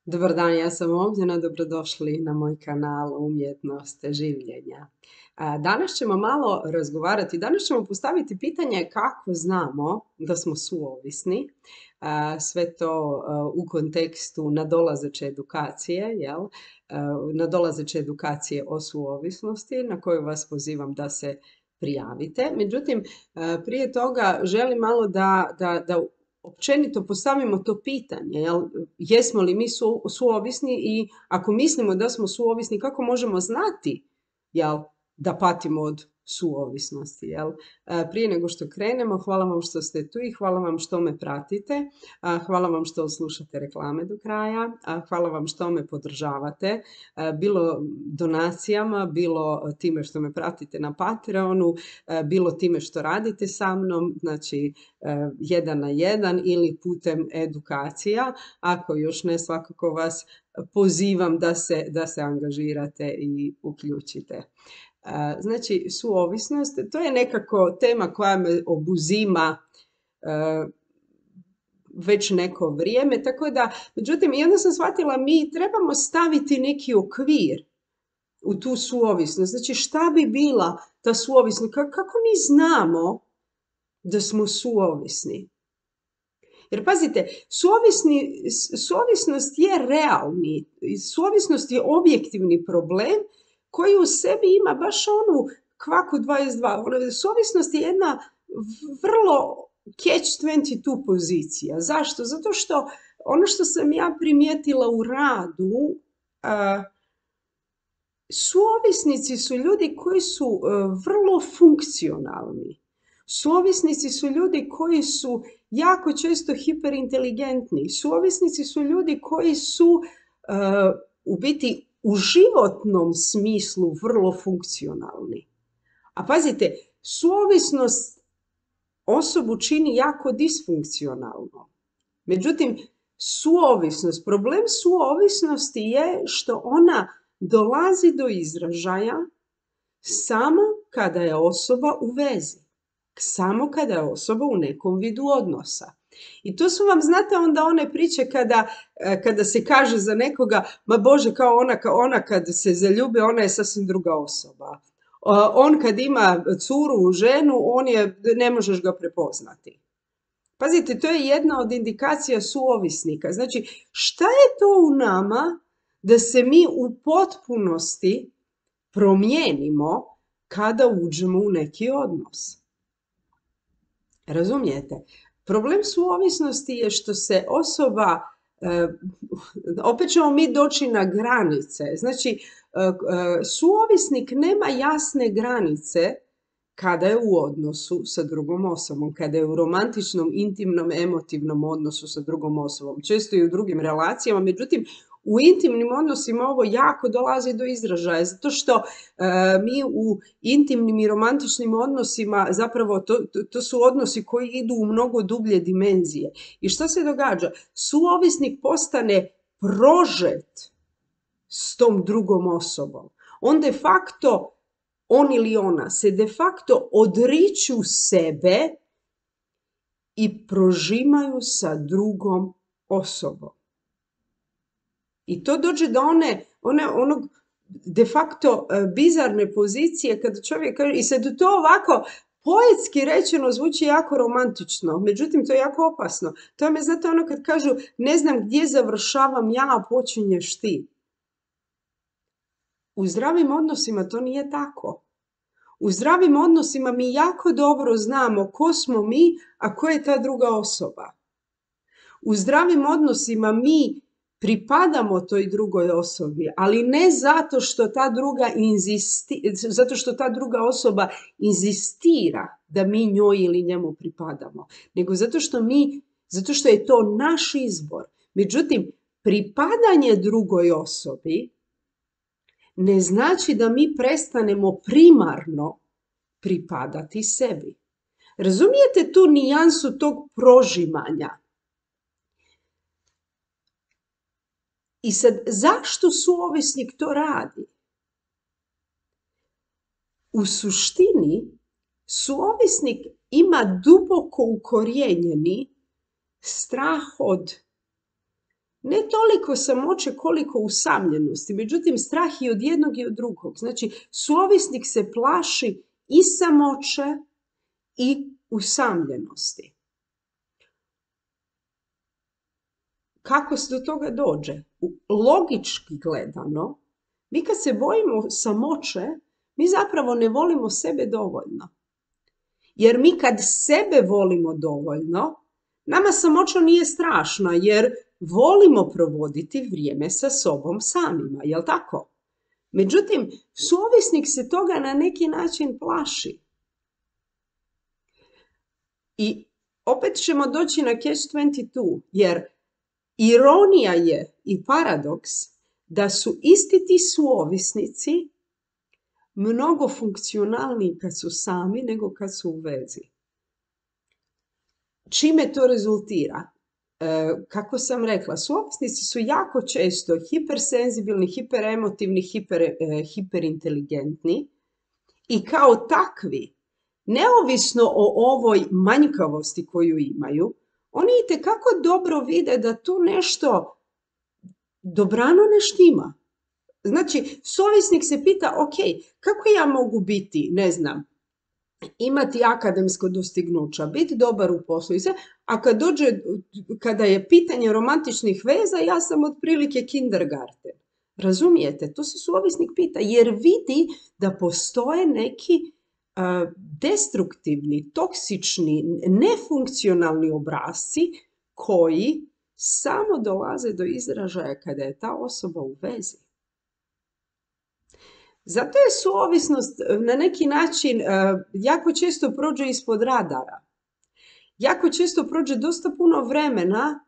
Dobar dan, ja sam Ognjena, dobrodošli na moj kanal Umjetnost življenja. Danas ćemo malo razgovarati, danas ćemo postaviti pitanje kako znamo da smo suovisni, sve to u kontekstu nadolazeće edukacije, jel? Nadolazeće edukacije o suovisnosti na koju vas pozivam da se prijavite. Međutim, prije toga želim malo da općenito postavimo to pitanje, jel? Jesmo li mi suovisni i ako mislimo da smo suovisni, kako možemo znati, jel, da patimo od suovisnosti, jel? Prije nego što krenemo, hvala vam što ste tu i hvala vam što me pratite, hvala vam što slušate reklame do kraja, hvala vam što me podržavate, bilo donacijama, bilo time što me pratite na Patreonu, bilo time što radite sa mnom, znači 1 na 1 ili putem edukacija. Ako još ne, svakako vas pozivam da se angažirate i uključite. Znači, suovisnost, to je nekako tema koja me obuzima već neko vrijeme, tako da, međutim, i onda sam shvatila, mi trebamo staviti neki okvir u tu suovisnost. Znači, šta bi bila ta suovisnost? Kako mi znamo da smo suovisni? Jer pazite, suovisnost je realni, suovisnost je objektivni problem koji u sebi ima baš onu kvaku 22. Suovisnost je jedna vrlo catch-22 pozicija. Zašto? Zato što ono što sam ja primijetila u radu, suovisnici su ljudi koji su vrlo funkcionalni. Suovisnici su ljudi koji su jako često hiperinteligentni. Suovisnici su ljudi koji su u biti u životnom smislu vrlo funkcionalni. A pazite, suovisnost osobu čini jako disfunkcionalno. Međutim, problem suovisnosti je što ona dolazi do izražaja samo kada je osoba u vezi, samo kada je osoba u nekom vidu odnosa. I to su vam, znate, onda one priče kada se kaže za nekoga, ma Bože, kao ona kad se zaljubi, ona je sasvim druga osoba. On kad ima curu, ženu, ne možeš ga prepoznati. Pazite, to je jedna od indikacija suovisnika. Znači, šta je to u nama da se mi u potpunosti promijenimo kada uđemo u neki odnos? Razumijete? Problem suovisnosti je što se osoba, opet ćemo mi doći na granice, znači suovisnik nema jasne granice kada je u odnosu sa drugom osobom, kada je u romantičnom, intimnom, emotivnom odnosu sa drugom osobom, često i u drugim relacijama, međutim u intimnim odnosima ovo jako dolazi do izražaja, zato što mi u intimnim i romantičnim odnosima, zapravo to su odnosi koji idu u mnogo dublje dimenzije. I što se događa? Suovisnik postane prožet s tom drugom osobom. On ili ona se de facto odriču sebe i prožimaju sa drugom osobom. I to dođe do onog de facto bizarne pozicije kada čovjek kaže, i sad to ovako poetski rečeno zvuči jako romantično, međutim to je jako opasno. To je, znate, ono kad kažu ne znam gdje završavam ja, a počinješ ti. U zdravim odnosima to nije tako. U zdravim odnosima mi jako dobro znamo ko smo mi, a ko je ta druga osoba. U zdravim odnosima mi pripadamo toj drugoj osobi, ali ne zato što ta druga osoba inzistira da mi njoj ili njemu pripadamo, nego zato što je to naš izbor. Međutim, pripadanje drugoj osobi ne znači da mi prestanemo primarno pripadati sebi. Razumijete tu nijansu tog prožimanja? I sad, zašto suovisnik to radi? U suštini, suovisnik ima duboko ukorijenjeni strah od Ne toliko samoće koliko usamljenosti, međutim strah i od jednog i od drugog. Znači, suovisnik se plaši i samoće i usamljenosti. Kako se do toga dođe? Logički gledano, mi kad se bojimo samoće, mi zapravo ne volimo sebe dovoljno. Jer mi kad sebe volimo dovoljno, nama samoća nije strašna, jer volimo provoditi vrijeme sa sobom samima, jel tako? Međutim, suovisnik se toga na neki način plaši. I opet ćemo doći na catch-22, jer ironija je i paradoks da su isti ti suovisnici mnogo funkcionalniji kad su sami nego kad su u vezi. Čime to rezultira? Kako sam rekla, suovisnici su jako često hipersenzibilni, hiperemotivni, hiperinteligentni i kao takvi, neovisno o ovoj manjkavosti koju imaju, oni itekako dobro vide da tu nešto dobrano ne štima. Znači, suovisnik se pita, ok, kako ja mogu biti, ne znam, imati akademsko dostignuća, biti dobar u poslu i sve, a kada je pitanje romantičnih veza, ja sam otprilike kindergarten. Razumijete? To se suovisnik pita, jer vidi da postoje neki destruktivni, toksični, nefunkcionalni obrasci koji samo dolaze do izražaja kada je ta osoba u vezi. Zato je suovisnost na neki način jako često prođe ispod radara. Jako često prođe dosta puno vremena,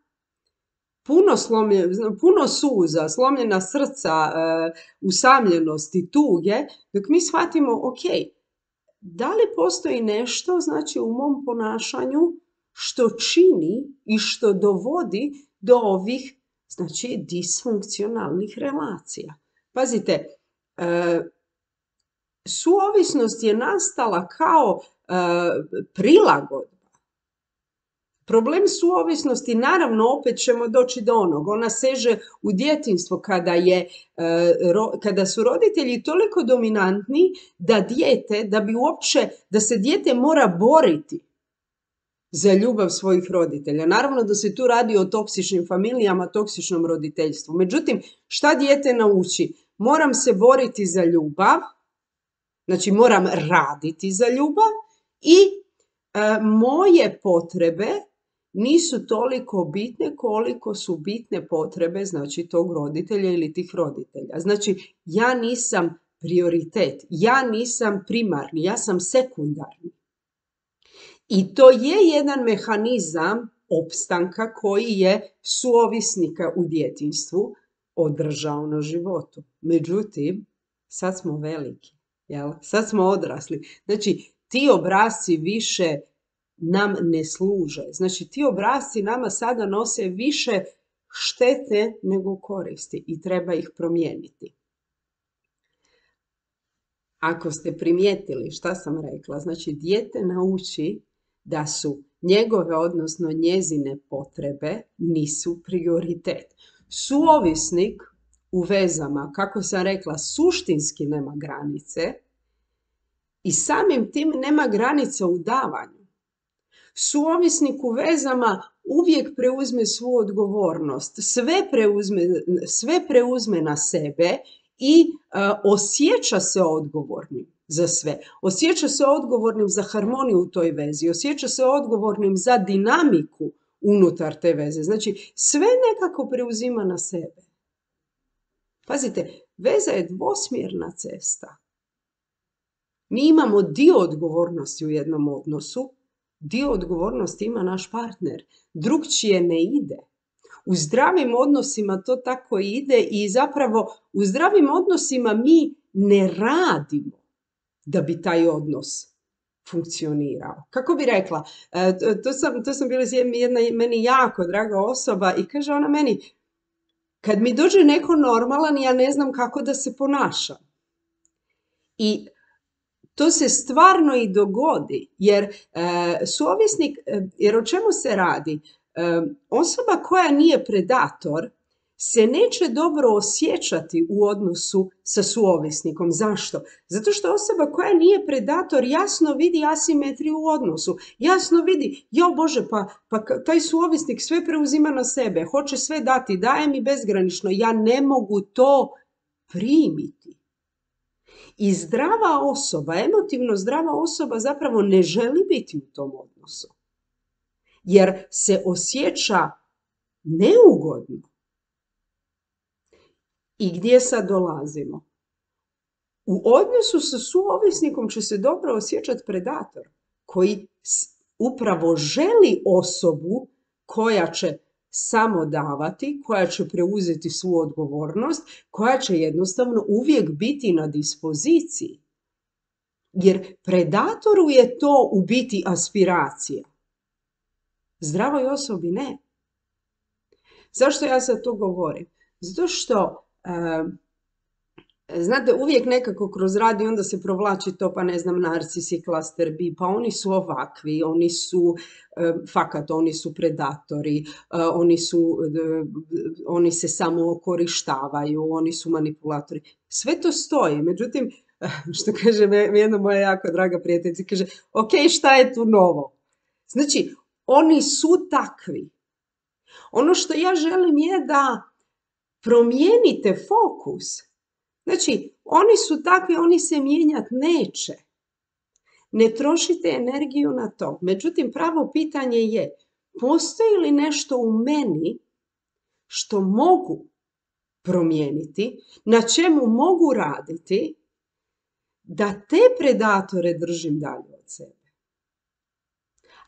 puno suza, slomljena srca, usamljenosti, tuge, dok mi shvatimo, ok, da li postoji nešto, znači u mom ponašanju, što čini i što dovodi do ovih, znači, disfunkcionalnih relacija. Pazite, suovisnost je nastala kao prilagodba. Problem suovisnosti, naravno, opet ćemo doći do onog, ona seže u djetinjstvo kada su roditelji toliko dominantni da se dijete mora boriti za ljubav svojih roditelja. Naravno da se tu radi o toksičnim familijama, toksičnom roditeljstvu. Međutim, šta dijete nauči? Moram se boriti za ljubav, znači moram raditi za ljubav i moje potrebe nisu toliko bitne koliko su bitne potrebe, znači, tog roditelja ili tih roditelja. Znači, ja nisam prioritet, ja nisam primarni, ja sam sekundarni. I to je jedan mehanizam opstanka koji je suovisnika u djetinjstvu održao na životu. Međutim, sad smo veliki, jel? Sad smo odrasli. Znači, ti obrasci više nam ne služe. Znači, ti obrasci nama sada nose više štete nego koristi i treba ih promijeniti. Ako ste primijetili šta sam rekla, znači, dijete nauči da su njegove, odnosno njezine potrebe nisu prioritet. Suovisnik u vezama, kako sam rekla, suštinski nema granice i samim tim nema granica u davanju. Suovisnik u vezama uvijek preuzme svu odgovornost, sve preuzme na sebe i osjeća se odgovornim za sve. Osjeća se odgovornim za harmoniju u toj vezi, osjeća se odgovornim za dinamiku unutar te veze. Znači, sve nekako preuzima na sebe. Pazite, veza je dvosmjerna cesta. Mi imamo dio odgovornosti u jednom odnosu, dio odgovornosti ima naš partner, drugčije ne ide. U zdravim odnosima to tako ide i zapravo u zdravim odnosima mi ne radimo da bi taj odnos funkcionirao. Kako bi rekla, to sam bila jedna meni jako draga osoba i kaže ona meni, kad mi dođe neko normalan, ja ne znam kako da se ponašam. I to se stvarno i dogodi, jer suovisnik, jer o čemu se radi? Osoba koja nije predator se neće dobro osjećati u odnosu sa suovisnikom. Zašto? Zato što osoba koja nije predator jasno vidi asimetriju u odnosu. Jasno vidi, jo Bože, pa taj suovisnik sve preuzima na sebe, hoće sve dati, daje mi bezgranično, ja ne mogu to primiti. I zdrava osoba, emotivno zdrava osoba zapravo ne želi biti u tom odnosu. Jer se osjeća neugodno. I gdje sad dolazimo? U odnosu sa suovisnikom će se dobro osjećati predator koji upravo želi osobu koja će samo davati, koja će preuzeti svu odgovornost, koja će jednostavno uvijek biti na dispoziciji. Jer predatoru je to u biti aspiracija. Zdravoj osobi ne. Zašto ja sad to govorim? Zato što znate, uvijek nekako kroz radio onda se provlači to, pa ne znam, narcisi, klaster B, pa oni su ovakvi, oni su fakat, oni su predatori, oni se samo okorištavaju, oni su manipulatori. Sve to stoji, međutim, što kaže jedna moja jako draga prijateljica, kaže, ok, šta je tu novo? Znači, oni su takvi. Ono što ja želim je da promijenite fokus. Znači, oni su takvi, oni se mijenjati neće. Ne trošite energiju na to. Međutim, pravo pitanje je, postoji li nešto u meni što mogu promijeniti, na čemu mogu raditi, da te predatore držim dalje od sebe?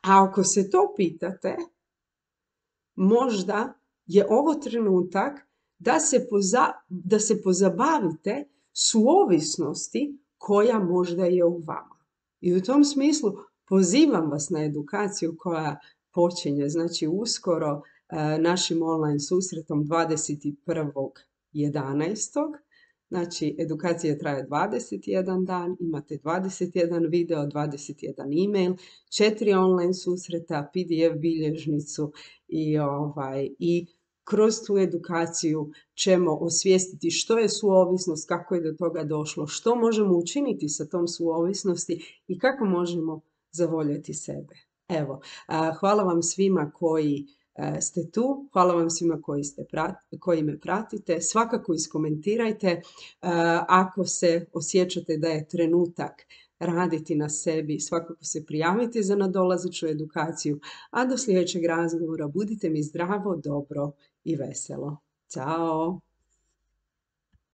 A ako se to pitate, možda je ovo trenutak da se pozabavite suovisnosti koja možda je u vama. I u tom smislu pozivam vas na edukaciju koja počinje, znači uskoro našim online susretom 21.11. Znači, edukacija traje 21 dan, imate 21 video, 21 e-mail, 4 online susreta, PDF bilježnicu i kroz tu edukaciju ćemo osvijestiti što je suovisnost, kako je do toga došlo, što možemo učiniti sa tom suovisnosti i kako možemo zavoljeti sebe. Evo, hvala vam svima koji ste tu, hvala vam svima koji me pratite. Svakako iskomentirajte ako se osjećate da je trenutak raditi na sebi, svakako se prijavite za nadolazeću edukaciju, a do sljedećeg razgovora budite mi zdravo, dobro i veselo. Ćao!